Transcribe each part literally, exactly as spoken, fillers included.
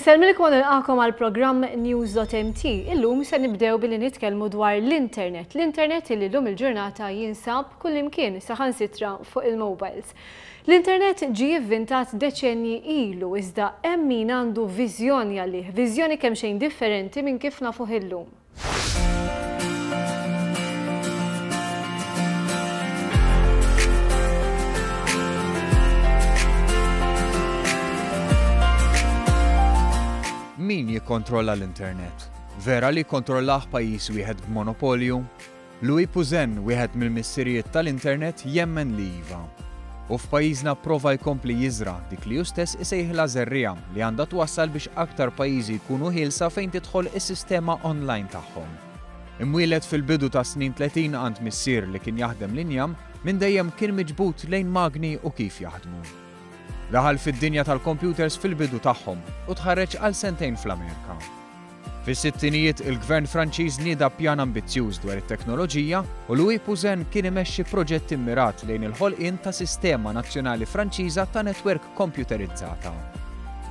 Insellmilkom u nilqagħkom għal programm News dot M T. Illum se nibdew billi nitkellmu dwar l-internet. L-internet illi llum il-ġurnata jinsab kullimkien, saħansitra fuq il-mobiles. L-internet ġie ivvintat deċenji ilu, iżda hemm min għandu viżjoni għalih, viżjoni kemm xejn differenti minn kif nafuh illum. Min jikkontrolla l-internet? Vera li jikkontrollah pajjiż wieħed b'monopolju? Louis Pouzin, wieħed mill-missirijiet tal-internet, jemmen li iva. U f'pajjiżna prova jkompli jiżra dik li hu stess isejħilha żerriegħa li għandha twassal biex aktar pajjiżi jkunu ħielsa fejn tidħol is-sistema online tagħhom. Imwieled fil-bidu ta' snin tletin għand missier li kien jaħdem l-injam, minn dejjem kien miġbut lejn magni u kif jaħdmu. Daħal fid-dinja tal-computers fil-bidu tagħhom u tħarreġ għal sentejn fl-Amerika. Fis-sittinijiet, il-Gvern Franċiż nieda pjan ambizzjuż dwar it-teknoloġija u Louis Pouzin kien imexxi proġett immirat lejn il-ħolqien ta' sistema nazzjonali Franċiża ta' netwerk komputerizzata.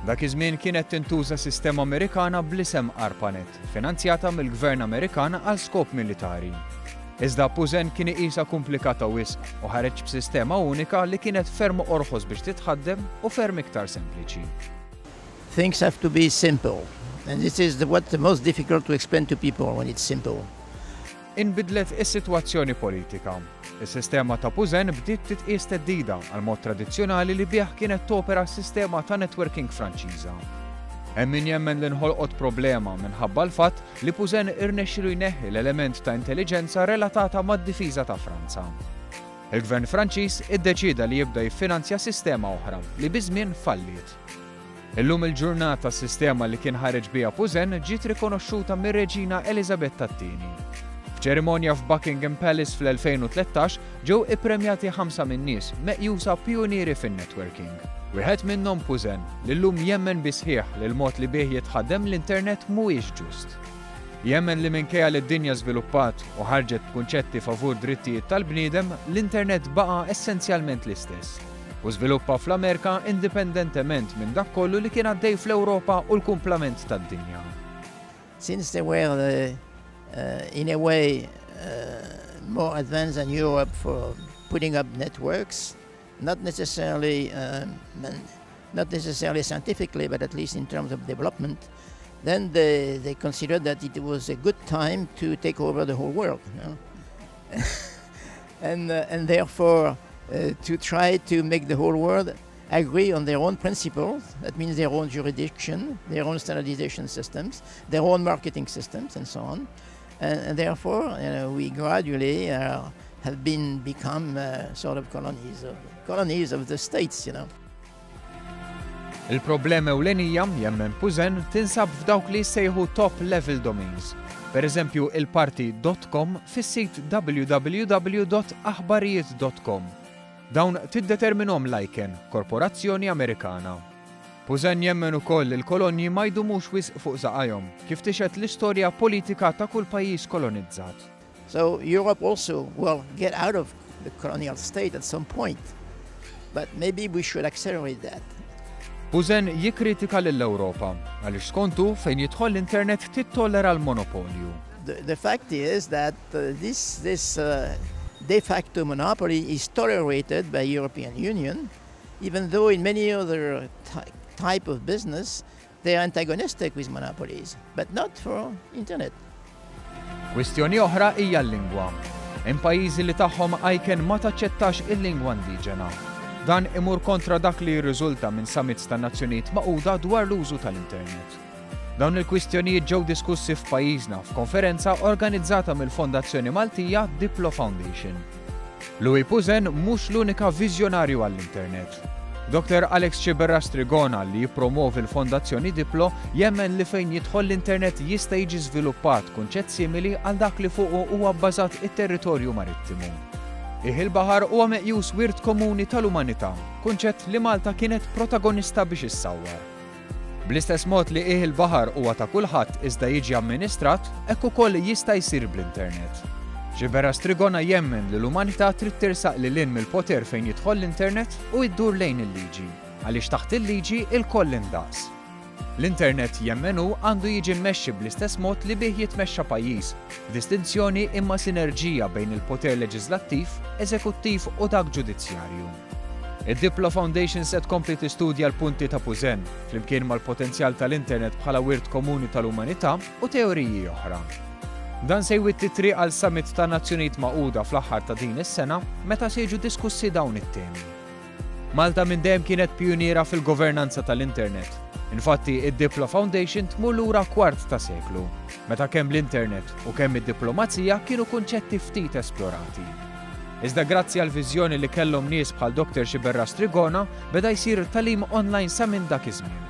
Dak iż-żmien kienet tintuża sistema Amerikana bl-isem ARPANET, finanzjata mill-Gvern Amerikan għal skop militari. Iżda Pouzin kien iqisha komplikata wisq u ħareġ b'sistema unika li kienet ferm orħos biex titħaddem u ferm iktar sempliċi. Things have to be simple. And this is the, what the most difficult to explain to people when it's simple. Inbidlet is-sitwazzjoni politika. Is-sistema ta' Pouzin bdiet titqies theddida għal mod tradizzjonali li bih kienet topera s-sistema ta' networking Franċiża. Hemm min jemmen li nħolqot problema minħabba l-fatt li Pouzin irnexxilu jneħħi l-element ta' intelligenza relatata mad-difiża ta' Franza. Il-Gvern Franċiż iddeċida li jibda jiffinanzja sistema oħra li biż-żmien falliet. Illum il-ġurnata, s-sistema li kien ħareġ biha Pouzin ġiet rikonoxxuta mir-Reġina Elizabetta T-Tieni. F'ċerimonja f'Buckingham Palace fl-elfejn u tlettax ġew ippremjati ħamsa min-nies meqjusa pionieri fin-networking. Wieħed minnhom Pouzin, li llum jemmen bisħieħ li l-mod li bih jitħaddem l-internet mhuwiex ġust. Jemmen li minkejja li d-dinja żviluppat u ħarġet b'kunċetti favur drittijiet tal-bniedem, l-internet baqa' essenzjalment l-istess. U żviluppa fl-Amerika indipendentement minn dak kollu li kien għaddej fl-Ewropa u l-kumplament tad-dinja. Since they were, uh, uh, in a way, uh, more advanced than Europe for putting up networks, not necessarily, um, not necessarily scientifically, but at least in terms of development, then they, they considered that it was a good time to take over the whole world. You know? and, uh, and therefore, uh, to try to make the whole world agree on their own principles, that means their own jurisdiction, their own standardization systems, their own marketing systems, and so on. And, and therefore, you know, we gradually uh, have been become uh, sort of colonies of, colonies of the states, you know. Il-problema ewlenija, jemmen Pouzin, tinsab f'dawk li jsejħu top level domains. Per eżempju, il-parti dot com fis-sit W W W dot aħbarijiet dot com. Dawn tiddeterminahom l-ICANN, korporazzjoni Amerikana. Pouzin jemmen ukoll li l-kolonji ma jdumux wisq fuq saqajhom, kif tixhed l-istorja politika ta' kull pajjiż kolonizzat. So Europe also will get out of the colonial state at some point, but maybe we should accelerate that. Pouzin jikkritika lill-Ewropa għaliex skontu fejn jidħol l-internet tittollera l-monopolju. The, the fact is that uh, this, this uh, de facto monopoly is tolerated by European Union, even though in many other ty type of business they are antagonistic with monopolies, but not for internet. Kwistjoni oħra hija l-lingwa. Hemm pajjiżi li tagħhom ICANN ma taċċettax il-lingwa indiġena. Dan imur kontra dak li jirriżulta minn summits tan-Nazzjonijiet Magħquda dwar l-użu tal-internet. Dawn il-kwistjonijiet ġew diskussi f'pajjiżna f'konferenza organizzata mill-Fondazzjoni Maltija Diplo Foundation. Louis Pouzin mhux l-unika viżjonarju għall-internet. Doktor Alex Sciberras Trigona, li jippromovi l-Fondazzjoni Diplo, jemmen li fejn jidħol l-internet jista' jiġi żviluppat kunċett simili għal dak li fuqu huwa bbażat it-territorju marittimu. Qiegħ il-baħar huwa meqjus wirt komuni tal-umanità, kunċett li Malta kienet protagonista biex issawwar. Bl-istess mod li qiegħ il-baħar huwa ta' kulħadd iżda jiġi amministrat, hekk ukoll jista' jsir bl-internet. Sciberras Trigona jemmen li l-umanità trid tersaq lil hinn mill-poter fejn jidħol l-internet u iddur lejn il-liġi, għaliex taħt il-liġi ilkoll indaqs. L-internet jemmen hu għandu jiġi mmexxi bl-istess mod li bih jitmexxa pajjiż, b'distinzjoni imma sinerġija bejn il-poter leġislattiv, eżekuttiv u dak ġudizzjarju. Id-Diplo Foundation se tkompli tistudja l-punti ta' Pouzin, flimkien mal-potenzjal tal-internet bħala wirt komuni tal-umanità u teoriji oħra. Dan se jwitti triq għal summit ta' Nazzjonijiet Magħquda fl-aħħar ta' din is-sena meta se jiġu diskussi dawn it-temi. Malta minn dejjem kienet pjuniera fil-governanza tal-internet. Infatti, id-Diplo Foundation tmur lura kwart ta' seklu, meta kemm l-internet u kemm id-diplomazija kienu kunċetti ftit esplorati. Iżda grazzi għal viżjoni li kellhom nies bħal Doktor Sciberras Trigona, beda jsir tagħlim online sa minn dak iż-żmien.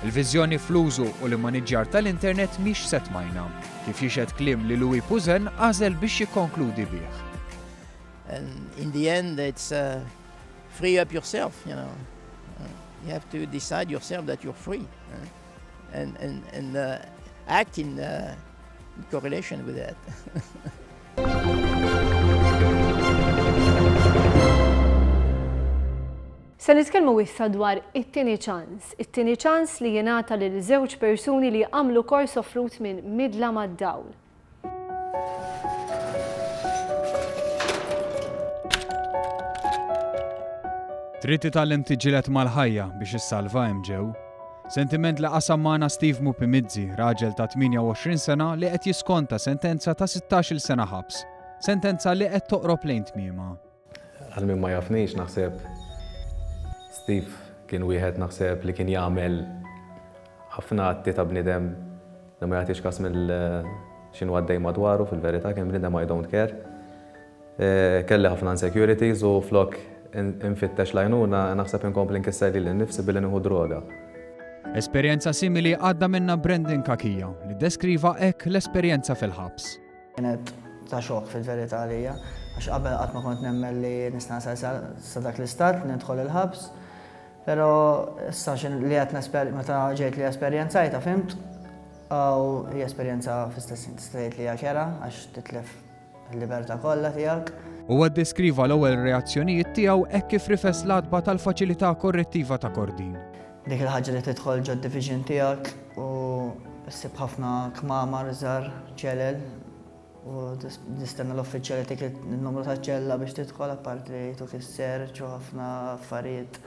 Il-viżjoni fl-użu u l-immaniġġjar tal-internet mhix se tmajna, kif jixhed kliem li Louis Pouzin għażel biex jikkonkludi bih. And in the end, it's uh, free up yourself, you know. Uh, you have to decide yourself that you're free, uh, and, and, and uh, act in, uh, in correlation with that. Se nitkellmu issa dwar it-tieni ċans. It-tieni ċans li jingħata lil żewġ persuni li għamlu kors offrut minn Midla mad-Dawl. Trid titgħallem tiġġieled mal-ħajja biex issalva hemm ġew. Sentiment li qasam magħna Steve Mupimizzi, raġel ta' tmienja u għoxrin sena li qed jiskonta sentenza ta' sittax-il sena ħabs. Sentenza li qed toqrob lejn tmiema. Għal min ma jafnix naħseb Steve kien wieħed naħseb li kien jagħmel ħafna atti ta' bniedem li ma jagħtix każ mill x'inhu għaddej madwaru, fil-verità kien bniedem I don't care. Kelli ħafna insecurities u flok infittex l-għajnuna naħseb inkompli nkisser lili nnifsi billi nieħu droga. Esperjenza simili għadda minna Brandon Cachia li deskriva hekk l-esperjenza fil-ħabs. Kienet ta' xokk fil-verità għalija, għax qabel qatt ma kont nemmen li nista' nasal sa dak l-istat li nidħol il-ħabs, però issa li qed nesper meta ġejt li esperjenzajta fimt, u hija esperjenza fl-istess tista' tgħid li hija kera għax titlef il-libertà kollha tiegħek. Huwa ddeskriva l-ewwel reazzjonijiet tiegħu hekk kif rifes l-għatba tal-faċilità korrettiva ta' Kordin. Dik il-ħaġa li tidħol ġod division tiegħek u ssib ħafna kmamar żgħar ċelel u tistenna l-uffiċjali tik il-numru taċ-ċella biex tidħol, apparti li jtuk is-search u ħafna affarijiet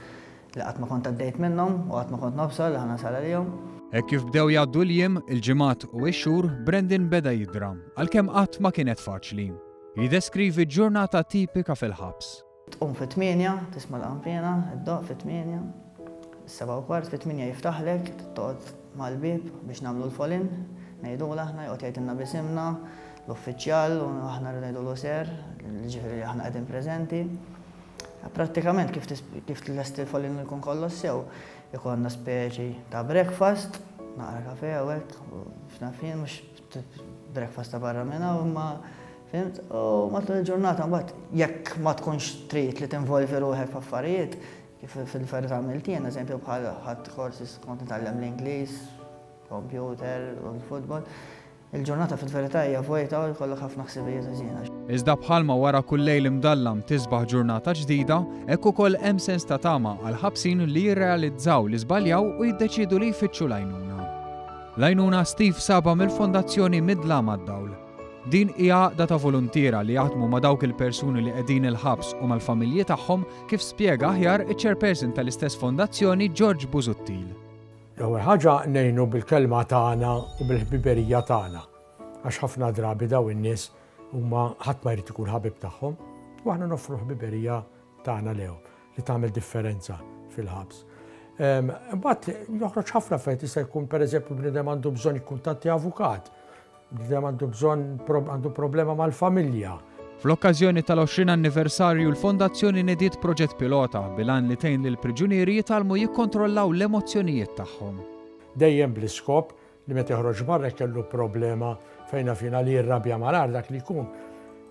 li qatt ma kont għaddejt minnhom u qatt ma kont nobsor li ħa nasal għalihom. Hekk kif bdew jgħaddu l-jiem, il-ġimgħat u x-xhur, Brandon beda jidra, għalkemm qatt ma kienet faċli. Jiddeskrivi ġurnata tipika fil-ħabs. Tqum fit-tmienja, tisma' l-qanpiena, iddoq fit-tmienja, is-seba' u kwart fit-tmienja jiftaħlek, toqgħod mal-bieb biex nagħmlu l-folin, ngħidulu aħna, joqgħod jgħidilna bisimna, l-uffiċjal u aħna rridu ngħidulu ser, ġifieri li aħna qegħdin preżenti. Prattikament kif kif tlest il-folin jkun kollox sew, ikollna speċi ta' breakfast, naqra kafe u hekk, x'naf jien, mhux breakfast ta' barra minn hawn, imma fimt, u matul il-ġurnata mbagħad jekk ma tkunx trid li tinvolvi ruħek f'affarijiet, kif fil-verità għamilt jien, eżempju bħal ħadd courses kont nitgħallem l-Ingliż, computer u l-futbol. Il-ġurnata fil-verità hija vojta u jkollok ħafna ħsibijiet ħażina. Iżda bħalma wara kull lejl imdallam tisbaħ ġurnata ġdida, hekk ukoll hemm sens ta' tama għal ħabsin li jirrealizzaw li żbaljaw u jiddeċiedu li jfittxu l-għajnuna. L-għajnuna Steve saba mill-Fondazzjoni Midla mad-Dawl. Din hija għaqda ta' voluntiera li jaħdmu ma' dawk il-persuni li qegħdin il-ħabs u mal-familji tagħhom, kif spjega aħjar iċ-chairperson tal-istess fondazzjoni George Busuttil. L-ewwel ħaġa ngħinu bil-kelma tagħna u bil-ħbiberija tagħna, għax ħafna drabi daw in-nies huma ħadd ma jrid ikun ħabib tagħhom, u aħna noffru ħbiberija tagħna lehom li tagħmel differenza fil-ħabs. Imbagħad joħroġ ħafna fejn jista' jkun pereżempju bniedem għandu bżonn jikkuntatti avukat, bniedem għandu bżonn għandu problema mal-familja. Fl-okkażjoni tal-għoxrin anniversarju l-Fondazzjoni nediet proġett pilota bil-għan li tgħin lil priġunieri jitgħallmu jikkontrollaw l-emozzjonijiet tagħhom. Dejjem bl-iskop li meta joħroġ barra kellu problema fejn fina li jirrabja malar dak li jkun.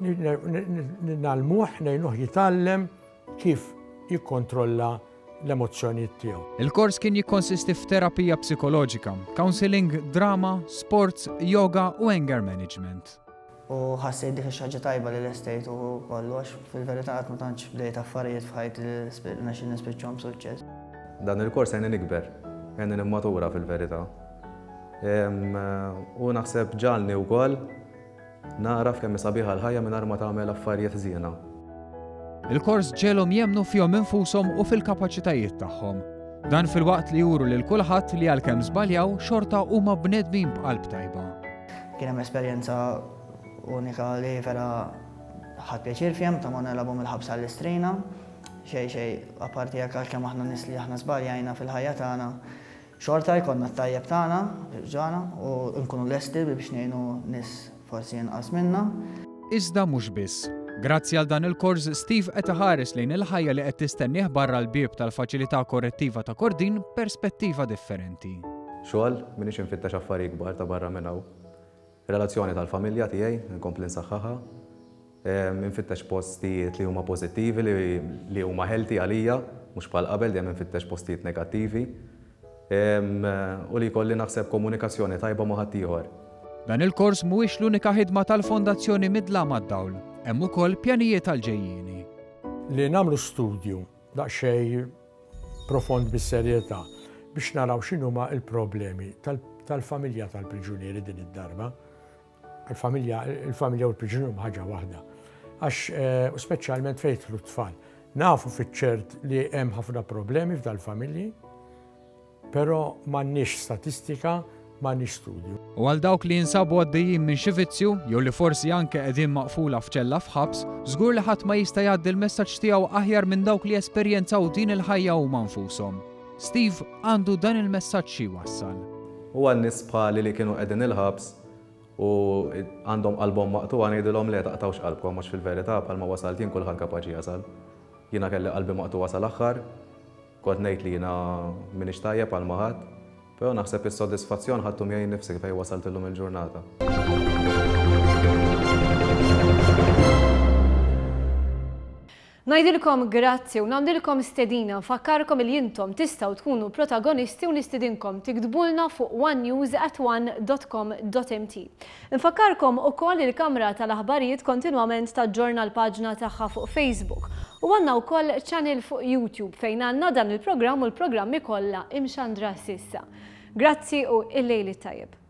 Nagħlmuh, ngħinuh jitgħallem kif jikkontrolla l-emozzjonijiet tiegħu. Il-kors kien jikkonsisti f'terapija psikoloġika, counseling, drama, sports, yoga u anger management. U ħassejt dik ix-xi ħaġa tajba li lestejt u kollu, għax fil-verità qatt ma tantx bdejt affarijiet f'ħajti li rnexxieli nispiċċhom b'suċċess. Dan il-kors għajni nikber. Għenni nimmatura fil-verità. U naħseb ġalni wkoll naraf kemm sabiħa l-ħajja mingħajr ma tagħmel affarijiet ħżiena. Il-kors ġegħelhom jemmnu fihom infushom u fil-kapaċitajiet tagħhom. Dan filwaqt li juru lil kulħadd li għalkemm żbaljaw xorta huma bnedmin b'qalb tajba. Kien hemm esperjenza unika li vera ħadt pjaċir fiha ta' ma nilagħbu mill-ħabs għall-Istrina. Xej xej, apparti jekk għalkemm aħna nies li aħna żbaljajna fil-ħajja tagħna, xorta jkollna t-tajjeb tagħna ġana u nkunu lesti biex ngħinu nies forsi inqas minna. Iżda mhux biss. Grazzi għal dan il-kors, Steve qed iħares lejn il-ħajja li qed tistennieh barra l-bieb tal-faċilità korrettiva ta' Kordin perspettiva differenti. Xogħol, m'iniex infittex affarijiet kbar ta' barra minn hawn. Relazzjoni tal-familja tiegħi nkompli nsaħħaħha. Infittex postijiet li huma pożittivi, li huma healthy għalija, mhux bħal qabel dejjem infittex postijiet negattivi. U li jkolli naħseb komunikazzjoni tajba ma' ħaddieħor. Dan il-kors mhuwiex l-unika ħidma tal-Fondazzjoni Midlam għad-Dawl. Hemm ukoll pjanijiet għal-ġejjieni. Li nagħmlu studju daqsxejn profond bis-serjetà biex naraw x'inhuma l-problemi tal-familja tal-priġunieri din id-darba. Il-familja il-familja u l-priġunieri huma ħaġa waħda. Għax u speċjalment fejn jidħlu t-tfal. Nafu fiċ-ċert li hemm ħafna problemi f'dal-familji, però m'għandniex statistika, m'għandniex studju. U għal dawk li jinsabu għaddejjin minn xi vizzju, jew li forsi anke qegħdin maqfula f'ċella f'ħabs, żgur li ħadd ma jista' jgħaddi l-messaġġ tiegħu aħjar minn dawk li esperjenzaw din il-ħajja huma nfushom. Steve għandu dan il-messaġġ xi jwassal. U għal nies bħali li kienu qegħdin il-ħabs u għandhom qalbhom maqtugħa ngħidilhom le taqtawx qalbkom għax fil-verità bħalma wasalt jien kulħadd kapaċi jasal. Jiena kelli qalbi maqtugħa sal-aħħar, kont ngħid li jiena m'iniex tajjeb għal ma ħadd, però naħseb is-sodisfazzjon ħadtu miegħi nnifsi fejn wasalt illum il-ġurnata. Ngħidilkom grazzi u nagħmlilkom stedina, nfakkarkom li intom tistgħu tkunu protagonisti u nistedinkom tiktbulna fuq one news at one dot com dot m t. Nfakkarkom ukoll il-Kamra tal-Aħbarijiet kontinwament taġġorna l-paġna tagħha fuq Facebook u għandna wkoll channel fuq YouTube fejn għandna dan il-programm u l-programmi kollha imxandra s'issa. Grazzi u il-lejl it-tajjeb.